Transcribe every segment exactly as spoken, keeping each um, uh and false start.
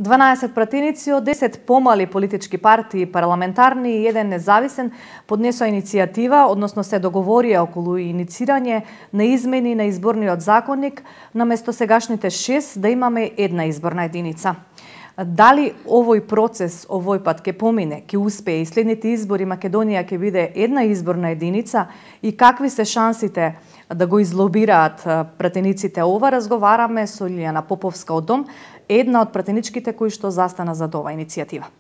дванаесет пратеници од десет помали политички партии, парламентарни и еден независен поднесоа иницијатива, односно се договорија околу иницирање на измени на изборниот законник, наместо сегашните шест да имаме една изборна единица. Дали овој процес овој пат ќе помине, ќе успее и следните избори Македонија ќе биде една изборна единица и какви се шансите да го излобираат пратениците? Ова разговараме со Лиљана Поповска од Дом, една од пратеничките кои што застана за ова иницијатива.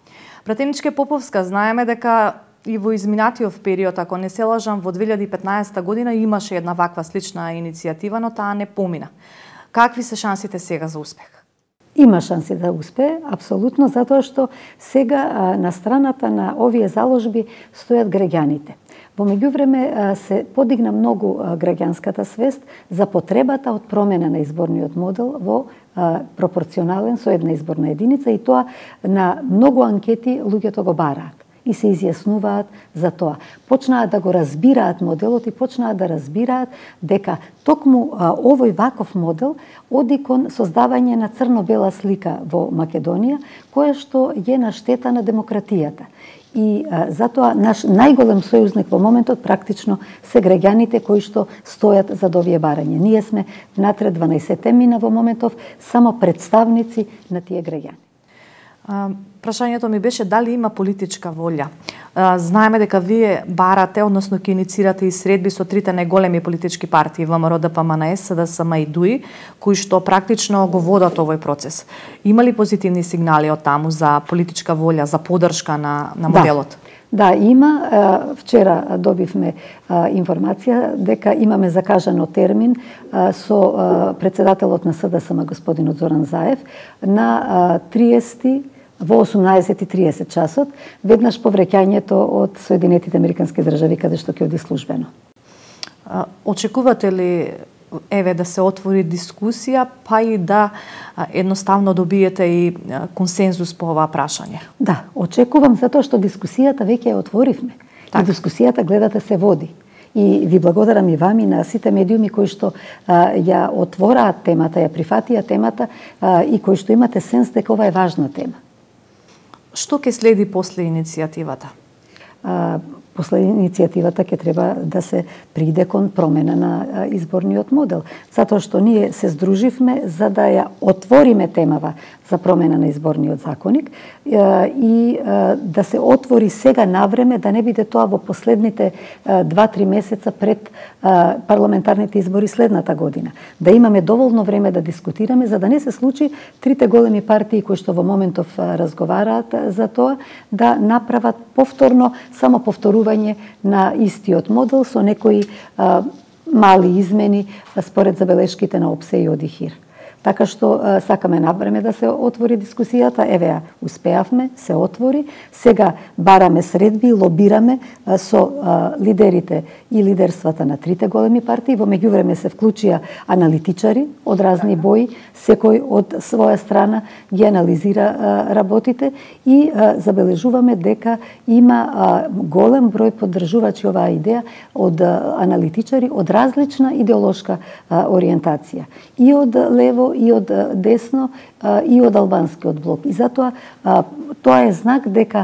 Пратеничке Поповска, знаеме дека и во изминатиот период, ако не се лажам, во две илјади и петнаесета година имаше една ваква слична иницијатива, но таа не помина. Какви се шансите сега за успех? Има шанси да успее, апсолутно, затоа што сега на страната на овие заложби стојат граѓаните. Во меѓувреме се подигна многу граѓанската свест за потребата од промена на изборниот модел во пропорционален со една изборна единица и тоа на многу анкети луѓето го бараат и се изјаснуваат за тоа. Почнаат да го разбираат моделот и почнаат да разбираат дека токму овој ваков модел оди кон создавање на црно-бела слика во Македонија, која што е на штета на демократијата. И а, затоа наш најголем сојузник во моментот практично се граѓаните кои што стојат за овие барања. Ние сме внатре дванаесет мина во моментов само представници на тие граѓани. А, прашањето ми беше дали има политичка волја. А, знаеме дека вие барате, односно ќе иницирате и средби со трите најголеми политички партии ВМРО, ДПМН, СДСМ и ДУИ, кои што практично го водат овој процес. Има ли позитивни сигнали од таму за политичка волја, за поддршка на, на моделот? Да, да, има. Вчера добивме информација дека имаме закажано термин со председателот на СДСМ господинот Зоран Заев на триесети во осумнаесет и триесет часот, веднаш по враќањето од Соединетите Американски држави, каде што ќе оди службено. Очекувате ли еве да се отвори дискусија, па и да едноставно добиете и консензус по ова прашање? Да, очекувам, затоа што дискусијата веќе ја отворивме. Так. И дискусијата, гледате, се води. И ви благодарам и вам и на сите медиуми кои што а, ја отвораат темата, ја прифатија темата а, и кои што имате сенс дека ова е важна тема. Што ќе следи после иницијативата? А, после иницијативата ќе треба да се приде кон промена на изборниот модел. Затоа што ние се здруживме за да ја отвориме темава за промена на изборниот законник и да се отвори сега навреме, да не биде тоа во последните два-три месеца пред парламентарните избори следната година. Да имаме доволно време да дискутираме, за да не се случи трите големи партии кои што во моментов разговараат за тоа, да направат повторно само повторување на истиот модел со некои а, мали измени според забелешките на ОПСЕ и ОДИХИР. Така што а, сакаме навреме да се отвори дискусијата, еве ја успеавме, се отвори. Сега бараме средби, лобираме а, со а, лидерите и лидерствата на трите големи партии. Во меѓувреме се вклучија аналитичари од разни бои, секој од своја страна ги анализира а, работите и а, забележуваме дека има а, голем број поддржувачи оваа идеја од а, аналитичари од различна идеолошка а, ориентација. И од лево и од десно, и од албанскиот блок. И затоа тоа е знак дека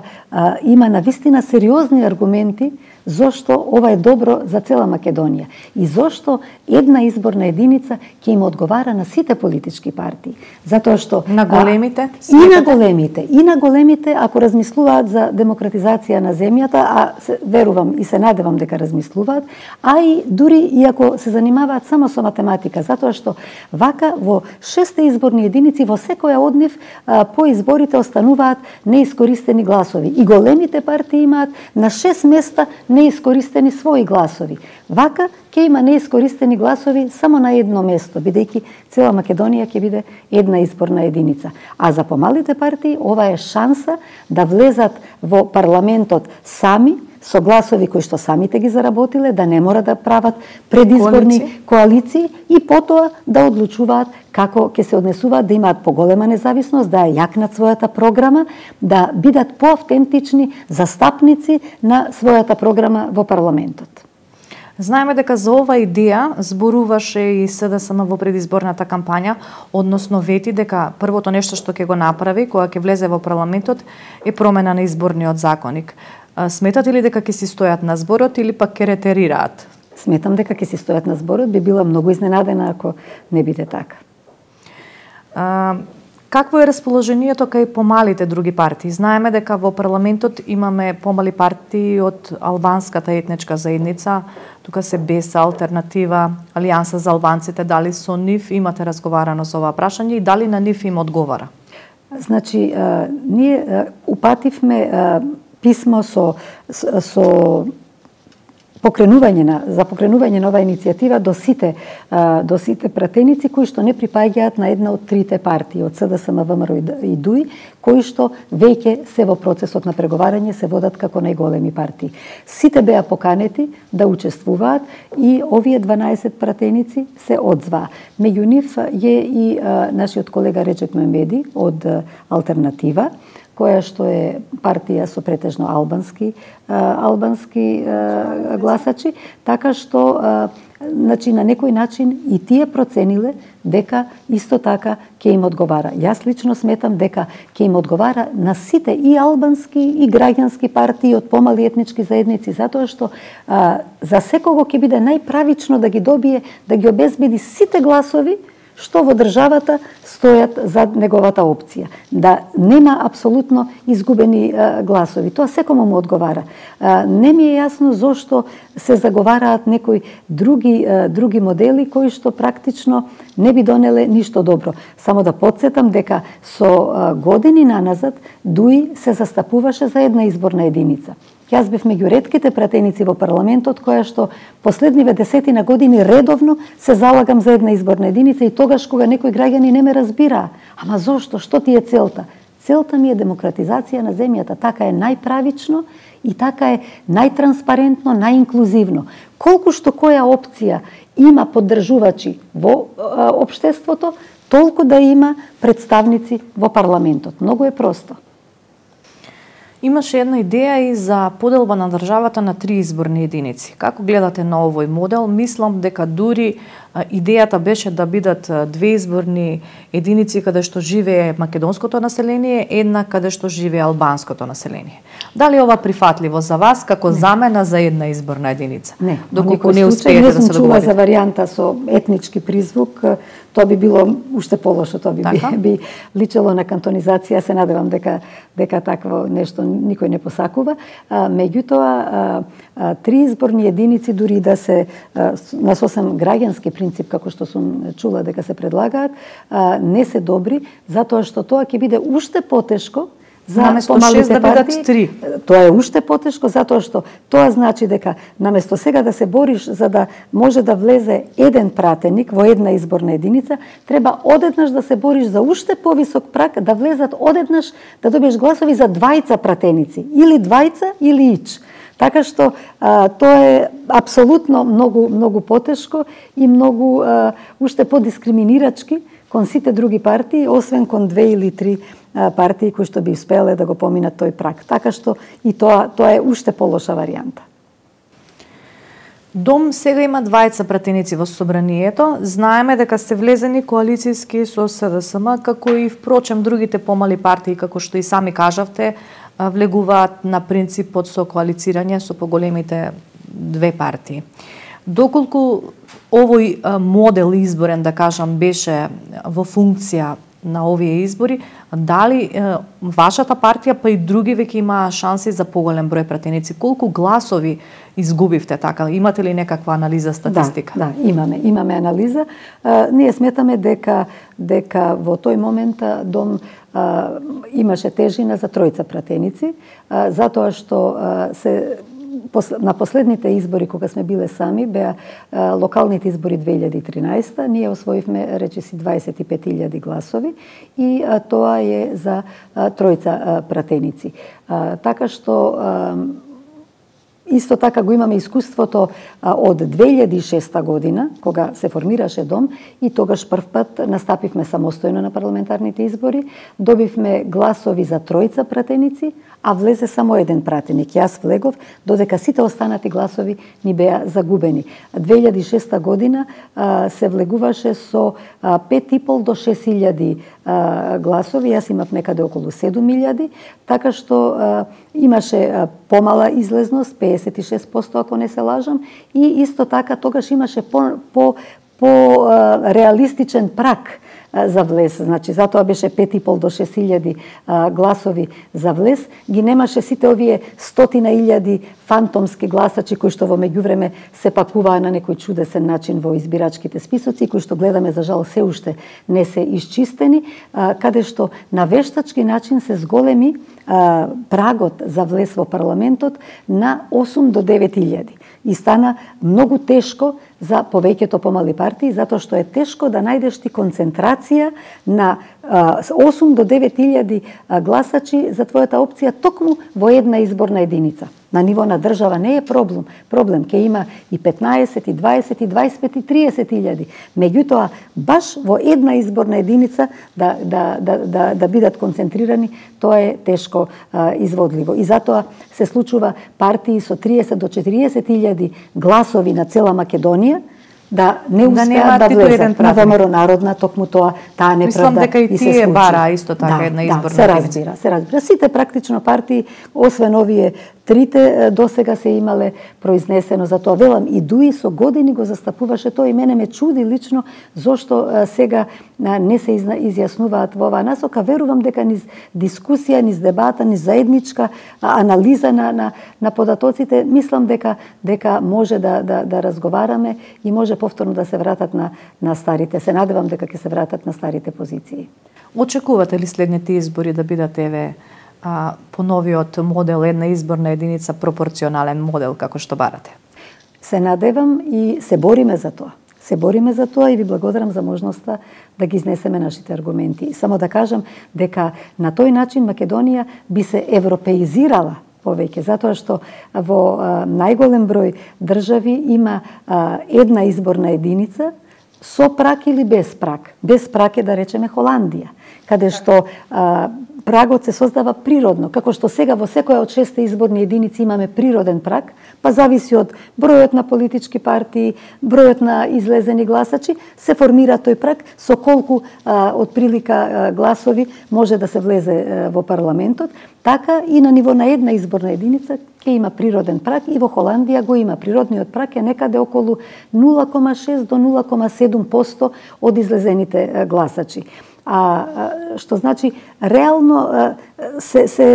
има навистина сериозни аргументи зошто ова е добро за цела Македонија и зошто една изборна единица ќе им одговара на сите политички партии. Затоа што на големите, а, и на големите, и на големите ако размислуваат за демократизација на земјата, а се, верувам и се надевам дека размислуваат, а и дури и ако се занимаваат само со математика, затоа што вака во шесте изборни единици во секоја од нив а, по изборите остануваат неискористени гласови. И големите партии имаат на шест места неискористени своји гласови. Вака ќе има неискористени гласови само на едно место, бидејќи цела Македонија ќе биде една изборна единица. А за помалите партии ова е шанса да влезат во парламентот сами, со гласови кои што самите ги заработиле, да не мора да прават предизборни коалиции, коалиции и потоа да одлучуваат како ќе се однесуваат, да имаат поголема независност, да ја јакнат својата програма, да бидат поавтентични застапници на својата програма во парламентот. Знаеме дека за ова идеја зборуваше и СДСМ во предизборната кампања, односно вети дека првото нешто што ќе го направи кога ќе влезе во парламентот е промена на изборниот законник. Сметате ли дека ќе си стојат на зборот или пак ќе ретерираат? Сметам дека ќе си стојат на зборот, би била многу изненадена ако не биде така. А, какво е расположението кај помалите други партии? Знаеме дека во парламентот имаме помали партии од албанската етничка заедница, тука се БЕС, Алтернатива, Алијанса за албанците, дали со нив имате разговарано со ова прашање и дали на нив им одговара? Значи, а, ние а, упативме а, писмо со, со покренување на за покренување на оваа иницијатива до сите а, до сите пратеници кои што не припаѓаат на една од трите партии од СДСМ, ВМРО и ДУИ, кои што веќе се во процесот на преговарање, се водат како најголеми партии. Сите беа поканети да учествуваат и овие дванаесет пратеници се одзваа. Меѓу нив е и а, нашиот колега Реджеп Мемеди од а, Алтернатива, која што е партија со претежно албански албански гласачи, така што значи на некој начин и тие процениле дека исто така ќе им одговара. Јас лично сметам дека ќе им одговара на сите и албански и граѓански партии од помали етнички заедници, затоа што а, за секого ќе биде најправично да ги добие, да ги обезбеди сите гласови што во државата стојат за неговата опција. Да нема апсолутно изгубени а, гласови. Тоа секому му одговара. А, не ми е јасно зошто се заговараат некои други а, други модели кои што практично не би донеле ништо добро. Само да подсетам дека со а, години наназад ДУИ се застапуваше за една изборна единица. Јас бев меѓу ретките пратеници во парламентот која што последниве десетина години редовно се залагам за една изборна единица и тогаш кога некои граѓани не ме разбираа. Ама зошто? Што ти е целта? Целта ми е демократизација на земјата. Така е најправично и така е најтранспарентно, најинклузивно. Колку што која опција има поддржувачи во а, општеството, толку да има представници во парламентот. Многу е просто. Имаше една идеја и за поделба на државата на три изборни единици. Како гледате на овој модел? Мислам дека дури идејата беше да бидат две изборни единици каде што живее македонското население, една каде што живее албанското население. Дали ова прифатливо за вас како не. замена за една изборна единица? Не, доколку не успеете да се договорите. За варијанта со етнички призвук, тоа би било уште полошо, тоа би, би, би личело на кантонизација. Се надевам дека дека такво нешто никој не посакува. А, меѓутоа, а, три изборни единици дури да се а, на сосем граѓански принцип, како што сум чула дека се предлагаат, а, не се добри, затоа што тоа ќе биде уште потешко за наместо шест да бидат три. Тоа е уште потешко затоа што тоа значи дека наместо сега да се бориш за да може да влезе еден пратеник во една изборна единица, треба одеднаш да се бориш за уште повисок праг, да влезат одеднаш да добиеш гласови за двајца пратеници, или двајца или ич. Така што а, тоа е апсолутно многу многу потешко и многу а, уште подискриминирачки кон сите други партии, освен кон две или три партии кои што би успеле да го поминат тој праг. Така што и тоа тоа е уште полоша варијанта. Дом сега има двајца пратеници во собранието. Знаеме дека се влезени коалицијски со СДСМ, како и впрочем другите помали партии, како што и сами кажавте, влегуваат на принципот со коалицирање со поголемите две партии. Доколку овој модел изборен, да кажам, беше во функција на овие избори, дали е, вашата партија па и други веќе имаа шанси за поголем број пратеници? Колку гласови изгубивте така? Имате ли некаква анализа, статистика? Да, да, имаме, имаме анализа. А, ние сметаме дека дека во тој момент Дом а, имаше тежина за тројца пратеници, а, затоа што а, се на последните избори кога сме биле сами, беа а, локалните избори две илјади и тринаесета, ние освоивме речиси дваесет и пет илјади гласови и а, тоа е за а, тројца а, пратеници. А, така што а, Исто така го имаме искуството од две илјади и шеста година, кога се формираше дом и тогаш прв пат настапивме самостојно на парламентарните избори, добивме гласови за тројца пратеници, а влезе само еден пратеник. Јас влегов, додека сите останати гласови ни беа загубени. две илјади и шеста година а, се влегуваше со а, пет и пол до шест илјади а, гласови, јас имав некаде околу седум илјади, така што а, имаше а, помала излезност, пеесет и шест проценти ако не се лажам, и исто така тогаш имаше по, по, по а, реалистичен прак за влез. Значи, затоа беше пет и пол до шест илјади гласови за влез. Ги немаше сите овие стотина илјади фантомски гласачи кои што во меѓувреме се пакуваа на некој чудесен начин во избирачките списоци, кои што гледаме за жал се уште не се исчистени, каде што на вештачки начин се зголеми прагот за влез во парламентот на осум до девет илјади. И стана многу тешко за повеќето помали партии, затоа што е тешко да најдеш ти концентрација на осум до девет илјади гласачи за твојата опција токму во една изборна единица. На ниво на држава не е проблем. Проблем ке има и петнаесет, и дваесет, и дваесет пет, и триесет илјади. Меѓутоа, баш во една изборна единица да, да, да, да, да бидат концентрирани, тоа е тешко а, изводливо. И затоа се случува партии со триесет до четириесет илјади гласови на цела Македонија, да не успеат да, да влезат на ВМРО Народна, токму тоа, таа неправда Мислам дека и тие бара исто така да, една да, изборна се разбира, се разбира. Сите практично партии, освен овие трите, досега се имале произнесено за тоа. Велам, и Дуи со години го застапуваше тоа и мене ме чуди лично зошто сега не се изјаснуваат во оваа насока. Верувам дека низ дискусија, низ дебата, низ заедничка анализа на, на, на податоците, мислам дека дека може да, да, да разговараме и може повторно да се вратат на, на старите. Се надевам дека ќе се вратат на старите позиции. Очекувате ли следните избори да бидат еве а, по новиот модел, една изборна единица, пропорционален модел како што барате? Се надевам и се бориме за тоа. Се бориме за тоа и ви благодарам за можноста да ги изнесеме нашите аргументи. И само да кажам дека на тој начин Македонија би се европеизирала повеќе, затоа што во а, најголем број држави има а, една изборна единица со прак или без прак. Без прак е, да речеме, Холандија, каде што а, прагот се создава природно, како што сега во секоја од шесте изборни единици имаме природен праг, па зависи од бројот на политички партии, бројот на излезени гласачи, се формира тој праг со колку а, од прилика а, гласови може да се влезе а, во парламентот. Така и на ниво на една изборна единица ќе има природен праг и во Холандија го има. Природниот праг е некаде околу нула кома шест до нула кома седум проценти од излезените а, гласачи. А, што значи реално се, се,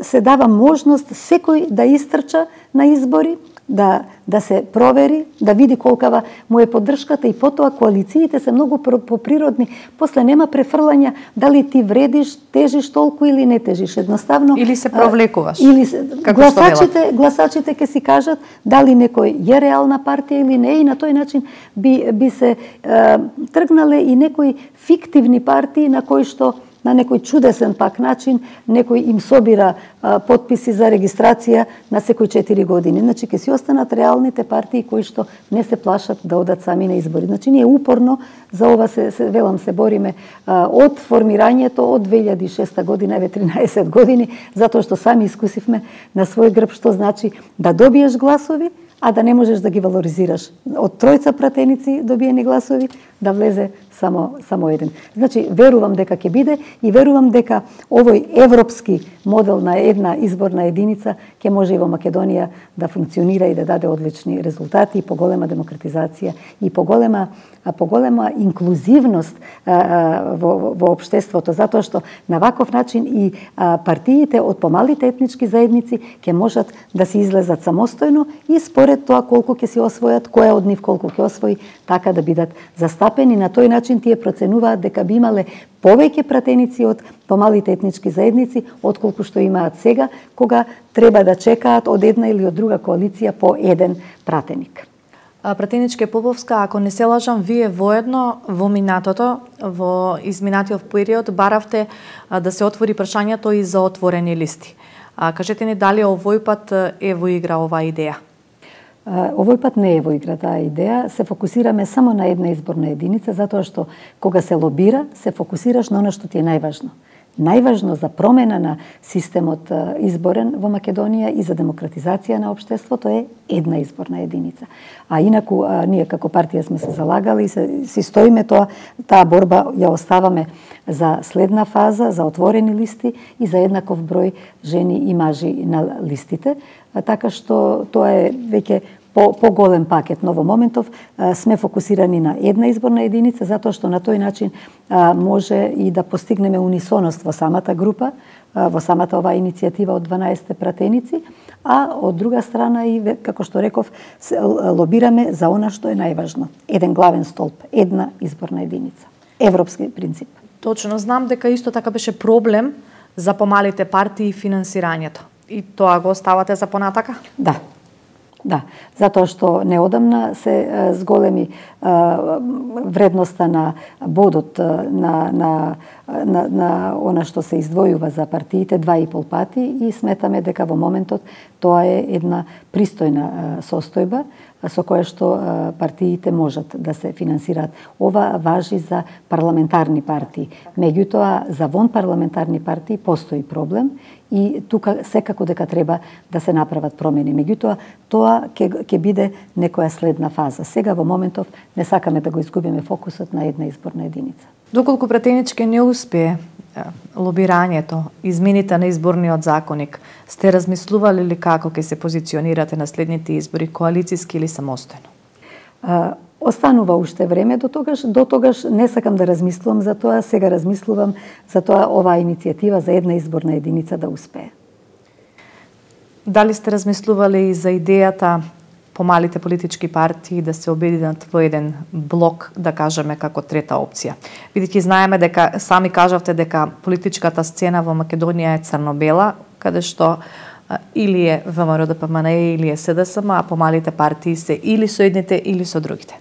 се дава можност секој да истрча на избори, да, да се провери, да види колкава му е поддршката и потоа коалициите се многу поприродни. После нема префрлања дали ти вредиш, тежиш толку или не тежиш. Едноставно или се провлекуваш. Или гласачите, гласачите ќе си кажат дали некој е реална партија или не, и на тој начин би би се е, тргнале и некои фиктивни партии на кои што на некој чудесен пак начин некој им собира а, потписи за регистрација на секој четири години. Значи ќе си останат реалните партии кои што не се плашат да одат сами на избори. Значи ние упорно за ова се, се велам се бориме а, од формирањето од две илјади и шеста година, еве тринаесет години, затоа што сами искусивме на свој грб што значи да добиеш гласови, а да не можеш да ги валоризираш. Од тројца пратеници добиени гласови да влезе само само еден. Значи верувам дека ќе биде и верувам дека овој европски модел на една изборна единица ќе може и во Македонија да функционира и да даде одлични резултати, и поголема демократизација и поголема поголема инклузивност а, во, во општеството, затоа што на ваков начин и а, партиите од помалите етнички заедници ќе можат да се излезат самостојно и според тоа колку ќе се освојат, која од нив колку ќе освои, така да бидат застапени. На тој начин тие проценуваат дека би имале повеќе пратеници од помалите етнички заедници отколку што имаат сега, кога треба да чекаат од една или од друга коалиција по еден пратеник. Пратеничке Поповска, ако не се лажам, вие воедно во минатото, во изминатиот период, баравте да се отвори прашањето и за отворени листи. А, кажете ни дали овој пат е во игра оваа идеја? Овој пат не е во игра таа идеја. Се фокусираме само на една изборна единица, затоа што кога се лобира, се фокусираш на оно што ти е најважно. Најважно за промена на системот изборен во Македонија и за демократизација на општеството е една изборна единица. А инаку ние како партија сме се залагали и се, си стоиме тоа, таа борба ја оставаме за следна фаза, за отворени листи и за еднаков број жени и мажи на листите, така што тоа е веќе по поголем пакет, но во моментов а, сме фокусирани на една изборна единица, затоа што на тој начин а, може и да постигнеме унисоност во самата група, а, во самата оваа иницијатива од дванаесет пратеници, а од друга страна и, како што реков, лобираме за она што е најважно. Еден главен столб, една изборна единица. Европски принцип. Точно, знам дека исто така беше проблем за помалите партии и финансирањето. И тоа го оставате за понатака? Да. Да, затоа што неодамна се зголеми вредноста на бодот на, на, на, на она што се издвојува за партиите два и пол пати и сметаме дека во моментот тоа е една пристојна состојба со која што партиите можат да се финансираат. Ова важи за парламентарни партии. Меѓутоа, за вон парламентарни партии постои проблем и тука секако дека треба да се направат промени. Меѓутоа, тоа ќе ќе биде некоја следна фаза. Сега во моментов не сакаме да го изгубиме фокусот на една изборна единица. Доколку пратенички не успее лобирањето, измените на изборниот законник, сте размислували ли како ќе се позиционирате на следните избори, коалициски или самостојно? А, останува уште време до тогаш, до тогаш не сакам да размислувам за тоа, сега размислувам за тоа оваа иницијатива за една изборна единица да успее. Дали сте размислували и за идејата помалите политички партии да се обединат во еден блок, да кажеме, како трета опција? Бидејќи знаеме дека, сами кажавте дека политичката сцена во Македонија е црно-бела, каде што или е ВМРО-ДПМН или е СДСМ, а помалите партии се или со едните или со другите.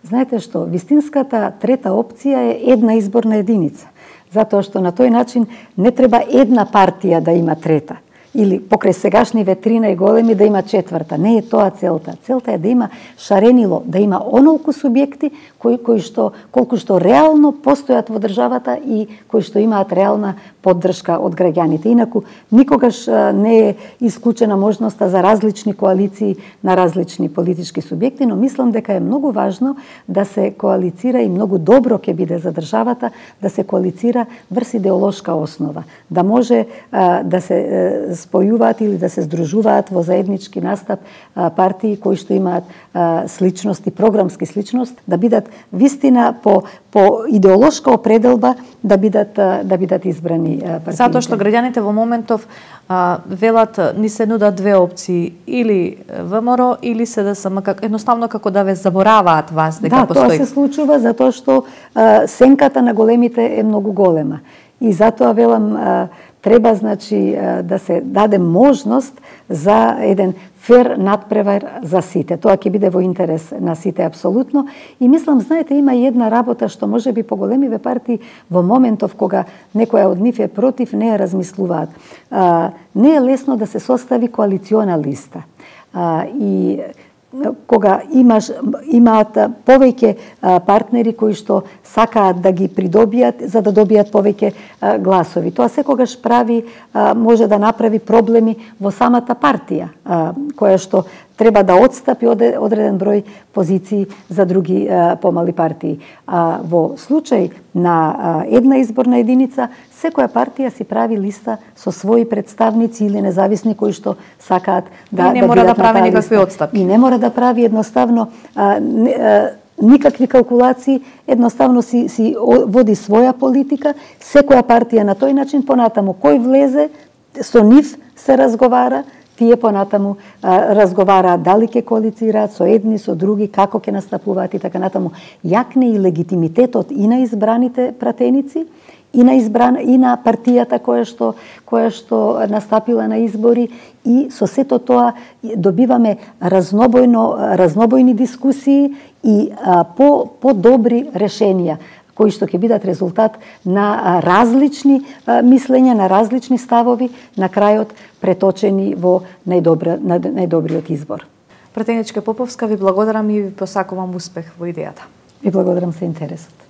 Знаете што, вистинската трета опција е една изборна единица, затоа што на тој начин не треба една партија да има трета, или покрај сегашниве три најголеми да има четврта. Не е тоа целта. Целта е да има шаренило, да има онолку субјекти кои, кои што, колку што реално постојат во државата и кои што имаат реална поддршка од граѓаните. Инаку, никогаш не е исклучена можноста за различни коалиции на различни политички субјекти, но мислам дека е многу важно да се коалицира и многу добро ќе биде за државата да се коалицира врз идеолошка основа. Да може а, да се спојуваат или да се здружуваат во заеднички настап а, партии кои што имаат а, сличности, програмски сличност, да бидат вистина по по идеолошка определба да бидат да бидат избрани партиите. Затоа што граѓаните во моментов а, велат ни се нудат две опции, или ВМРО или СДСМ, как едноставно како да ве забораваат вас дека да, постои. Да, тоа се случува затоа што а, сенката на големите е многу голема. И затоа велам а, треба, значи, да се даде можност за еден фер надпревар за сите. Тоа ќе биде во интерес на сите апсолутно. И мислам, знаете, има и една работа што може би поголемиве партии во моментов кога некоја од нив е против, не ја размислуваат. А, не е лесно да се состави коалициона листа. А, и кога имаш имаат повеќе партнери кои што сакаат да ги придобијат за да добијат повеќе гласови. Тоа секогаш прави може да направи проблеми во самата партија, која што треба да отстапи одреден број позиции за други помали партии. А во случај на една изборна единица, секоја партија си прави листа со своји представници или независни кои што сакаат да и не мора да прави никакви отстапки. И не мора да прави едноставно а, не, а, никакви калкулации, едноставно си, си води своја политика, секоја партија на тој начин, понатаму кој влезе, со нив се разговара, тие понатаму а, разговараат дали ќе коалицираат со едни, со други, како ќе настапуваат и така натаму. Јакне и легитимитетот и на избраните пратеници, и на избран и на партијата која што која што настапила на избори, и со сето тоа добиваме разнобојно разнобојни дискусии и а, по по добри решенија кои што ќе бидат резултат на различни мислења, на различни ставови, на крајот преточени во најдобра, најдобриот избор. Пратеничка Поповска, ви благодарам и ви посакувам успех во идејата. Ви благодарам за интересот.